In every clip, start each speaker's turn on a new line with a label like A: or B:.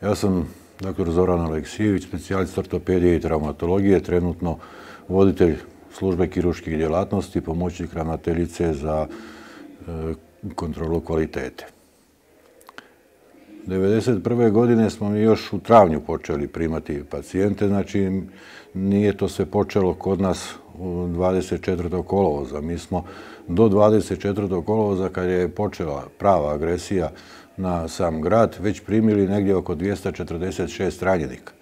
A: Ja sam dr. Zoran Aleksijević, specijalist ortopedije i traumatologije, trenutno voditelj službe kirurških djelatnosti, pomoćnik ravnateljice za kontrolu kvalitete. 1991. godine smo mi još u travnju počeli primati pacijente, znači nije to sve počelo kod nas u 24. kolovoza. Mi smo do 24. kolovoza, kad je počela prava agresija na sam grad, već primili negdje oko 246 ranjenika.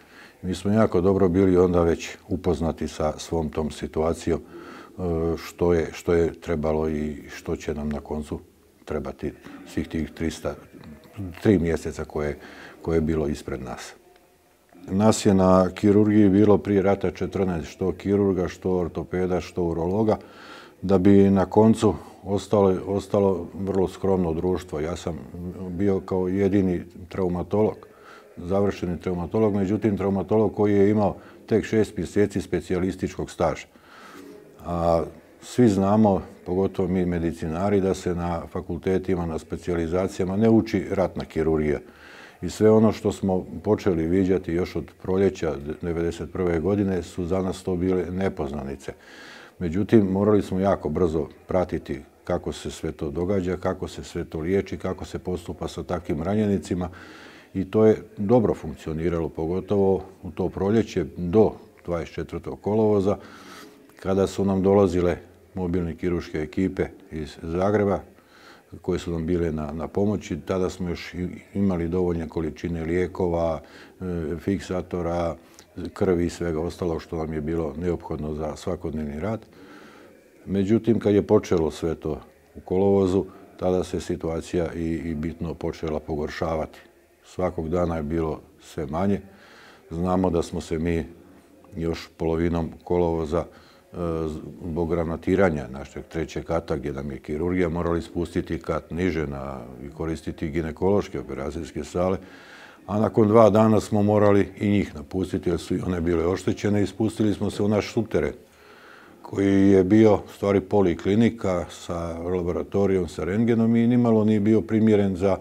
A: Mi smo jako dobro bili onda već upoznati sa svom tom situacijom, što je trebalo i što će nam na koncu trebati svih tih 3 mjeseca koje je bilo ispred nas. Nas je na kirurgiji bilo prije rata 14, što kirurga, što ortopeda, što urologa, da bi na koncu ostalo vrlo skromno društvo. Ja sam bio kao jedini traumatolog, završeni traumatolog, međutim traumatolog koji je imao tek 6 mjeseci specijalističkog staža. A svi znamo, pogotovo mi medicinari, da se na fakultetima, na specijalizacijama ne uči ratna kirurgija. I sve ono što smo počeli viđati još od proljeća 1991. godine su za nas to bile nepoznanice. Međutim, morali smo jako brzo pratiti kako se sve to događa, kako se sve to liječi, kako se postupa sa takvim ranjenicima. I to je dobro funkcioniralo, pogotovo u to proljeće do 24. kolovoza, kada su nam dolazile mobilne kirurške ekipe iz Zagreba, koje su nam bile na pomoći. Tada smo još imali dovoljne količine lijekova, fiksatora, krvi i svega ostalog što nam je bilo neophodno za svakodnevni rad. Međutim, kad je počelo sve to u kolovozu, tada se situacija i bitno počela pogoršavati. Svakog dana je bilo sve manje. Znamo da smo se mi još polovinom kolovoza zbog granatiranja našeg 3. kata, gdje nam je kirurgija, morali spustiti kat niže i koristiti ginekološke operacijske sale, a nakon 2 dana smo morali i njih napustiti jer su i one bile oštećene i spustili smo se u naš subteren, koji je bio u stvari poliklinika sa laboratorijom, sa rentgenom i nimalo nije bio primjeren za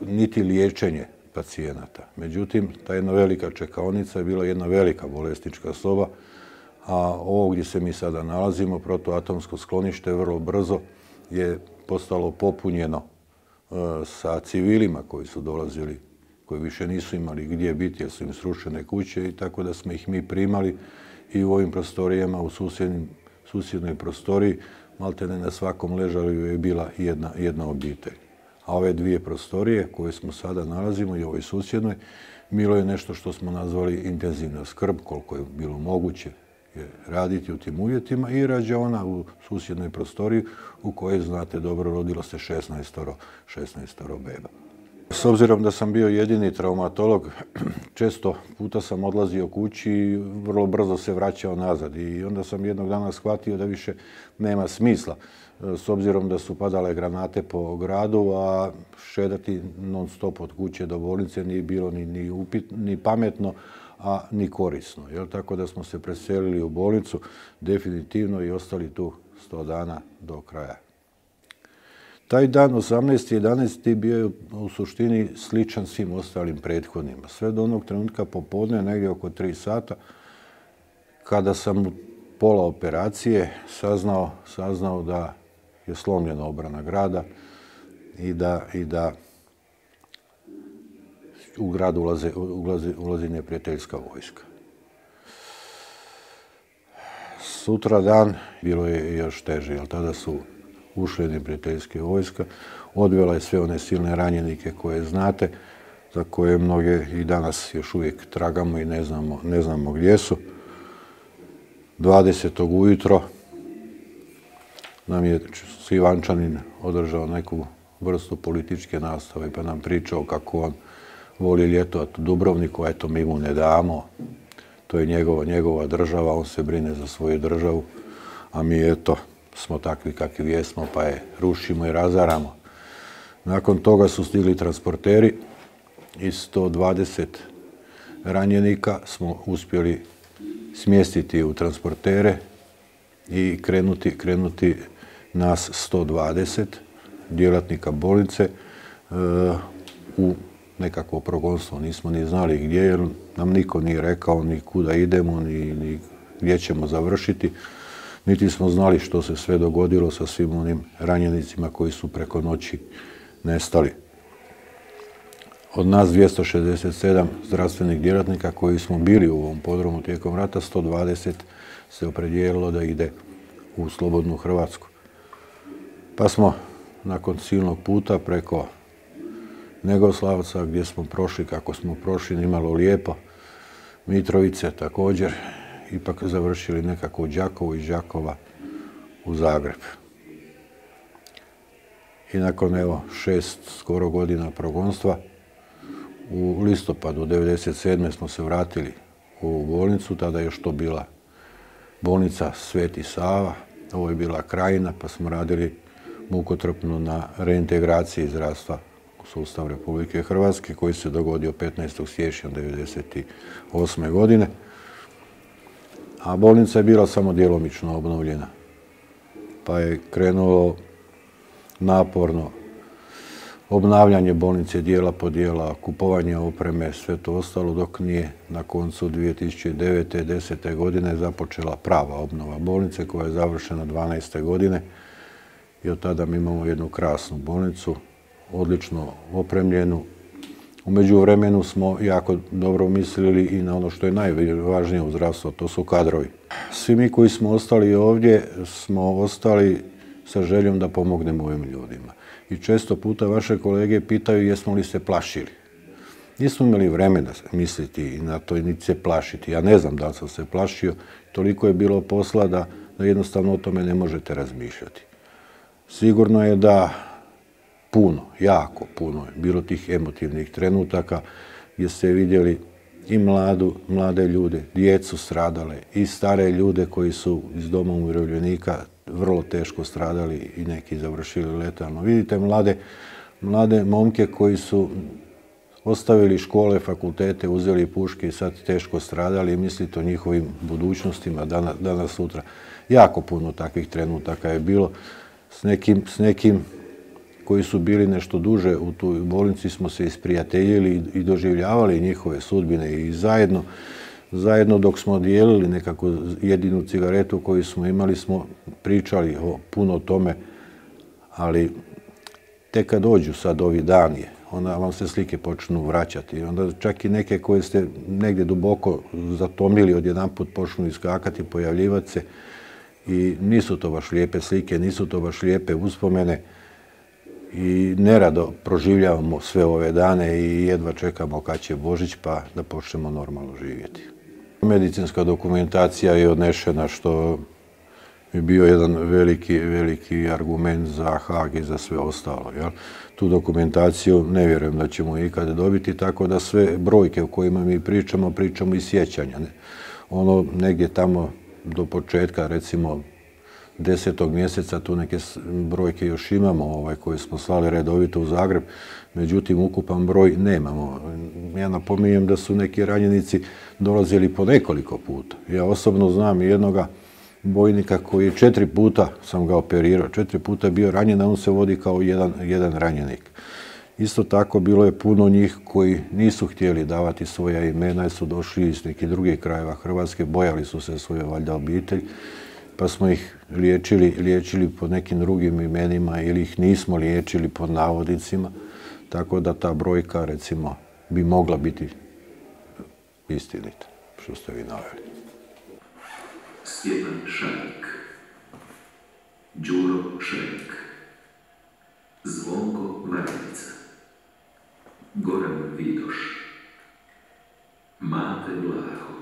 A: niti liječenje pacijenata. Međutim, ta jedna velika čekaonica je bila jedna velika bolesnička soba, a ovo gdje se mi sada nalazimo, protuatomsko sklonište, vrlo brzo je postalo popunjeno sa civilima koji su dolazili, koji više nisu imali gdje biti jer su im srušene kuće, i tako da smo ih mi primali i u ovim prostorijama, u susjednoj prostoriji, maltene na svakom ležaju je bila jedna obitelj. A ove 2 prostorije koje smo sada nalazimo i ovoj susjednoj, bilo je nešto što smo nazvali intenzivna skrb, koliko je bilo moguće raditi u tim uvjetima, i rađaona u susjednoj prostoriji u kojoj, znate dobro, rodilo se 16 beba. S obzirom da sam bio jedini traumatolog, često puta sam odlazio kući i vrlo brzo se vraćao nazad. I onda sam jednog dana shvatio da više nema smisla, s obzirom da su padale granate po gradu, a šedati non stop od kuće do bolnice nije bilo ni pametno, a ni korisno. Tako da smo se preselili u bolnicu definitivno i ostali tu 100 dana do kraja. Taj dan, 18.11. bio je u suštini sličan svim ostalim prethodnima. Sve do onog trenutka popodne, negdje oko 3 sata, kada sam u pola operacije saznao da je slomljena obrana grada i da u grad ulazi neprijateljska vojska. Sutra dan bilo je još teže, jer tada su ušle neprijateljske vojska, odvela je sve one silne ranjenike koje znate, za koje mnoge i danas još uvijek tragamo i ne znamo gdje su. 20. ujutro nam je Ivančanin održao neku vrstu političke nastave, pa nam pričao kako on voli ljetovati u Dubrovniku, eto mi mu ne damo, to je njegova država, on se brine za svoju državu, a mi eto smo takvi kakvi jesmo, pa je rušimo i razaramo. Nakon toga su stigli transporteri i 120 ranjenika smo uspjeli smjestiti u transportere i krenuti nas 120 djelatnika bolnice u nekakvo progonstvo. Nismo ni znali gdje, jer nam niko nije rekao ni kuda idemo, ni gdje ćemo završiti. Niti smo znali što se sve dogodilo sa svim onim ranjenicima koji su preko noći nestali. Od nas 267 zdravstvenih djelatnika koji smo bili u ovom podrumu tijekom rata, 120 se opredijelilo da ide u slobodnu Hrvatsku. Pa smo nakon silnog puta preko Negoslavca, gdje smo prošli kako smo prošli, nimalo lijepo, Mitrovice također, ipak završili nekako u Đakovu, iz Đakova u Zagreb. I nakon 6 skoro godina progonstva, u listopadu 1997. smo se vratili u bolnicu, tada je još to bila bolnica Sveti Sava, ovo je bila Krajina, pa smo radili mukotrpno na reintegraciji zdravstva u sustav Republike Hrvatske, koji se dogodio 15. siječnja 1998. godine. A bolnica je bila samo djelomično obnovljena, pa je krenulo naporno obnavljanje bolnice dijela po dijela, kupovanje opreme, sve to ostalo, dok nije na koncu 2009. 10. godine započela prava obnova bolnice, koja je završena 12. godine. I od tada mi imamo jednu krasnu bolnicu, odlično opremljenu. U međuvremenu smo jako dobro mislili i na ono što je najvažnije u zdravstvu, to su kadrovi. Svi mi koji smo ostali ovdje smo ostali sa željom da pomognemo ovim ljudima. I često puta vaše kolege pitaju jesmo li se plašili. Nismo imali vremena misliti na to i niti se plašiti. Ja ne znam da li sam se plašio, toliko je bilo posla da jednostavno o tome ne možete razmišljati. Sigurno je da puno, jako puno je bilo tih emotivnih trenutaka gdje ste vidjeli i mlade ljude, djecu stradale, i stare ljude koji su iz doma umirovljenika vrlo teško stradali i neki završili letalno. Vidite mlade momke koji su ostavili škole, fakultete, uzeli puške i sad teško stradali i mislite o njihovim budućnostima danas sutra. Jako puno takvih trenutaka je bilo. S nekim koji su bili nešto duže u toj bolnici smo se isprijateljili i doživljavali njihove sudbine i zajedno dok smo dijelili nekako jedinu cigaretu koju smo imali, smo pričali puno o tome, ali tek kad dođu sad ovi dani, onda vam se slike počnu vraćati. Onda čak i neke koje ste negdje duboko zatomili, odjedanput počnu iskakati, pojavljivati se i nisu to baš lijepe slike, nisu to baš lijepe uspomene i nerado proživljavamo sve ove dane i jedva čekamo kad će Božić pa da počnemo normalno živjeti. Medicinska dokumentacija je odnešena, što je bio jedan veliki argument za Haag i za sve ostalo. Tu dokumentaciju ne vjerujem da ćemo ikada dobiti, tako da sve brojke o kojima mi pričamo iz sjećanja. Ono negdje tamo do početka, recimo 10. mjeseca, tu neke brojke još imamo koje smo slali redovito u Zagreb, međutim ukupan broj nemamo. Ja napominjem da su neki ranjenici dolazili po nekoliko puta. Ja osobno znam jednoga bojnika koji 4 puta sam ga operirao, 4 puta je bio ranjen, a on se vodi kao jedan ranjenik. Isto tako bilo je puno njih koji nisu htjeli davati svoja imena jer su došli iz nekih drugih krajeva Hrvatske, bojali su se svoje valjda obitelj, pa smo ih liječili pod nekim drugim imenima ili ih nismo liječili pod navodnicima, tako da ta brojka, recimo, bi mogla biti istinita, što ste vi naveli.
B: Stjepan Šanik, Đuro Šenik, Zvonko Varnica, Goran Vidoš, Mate Vlaho,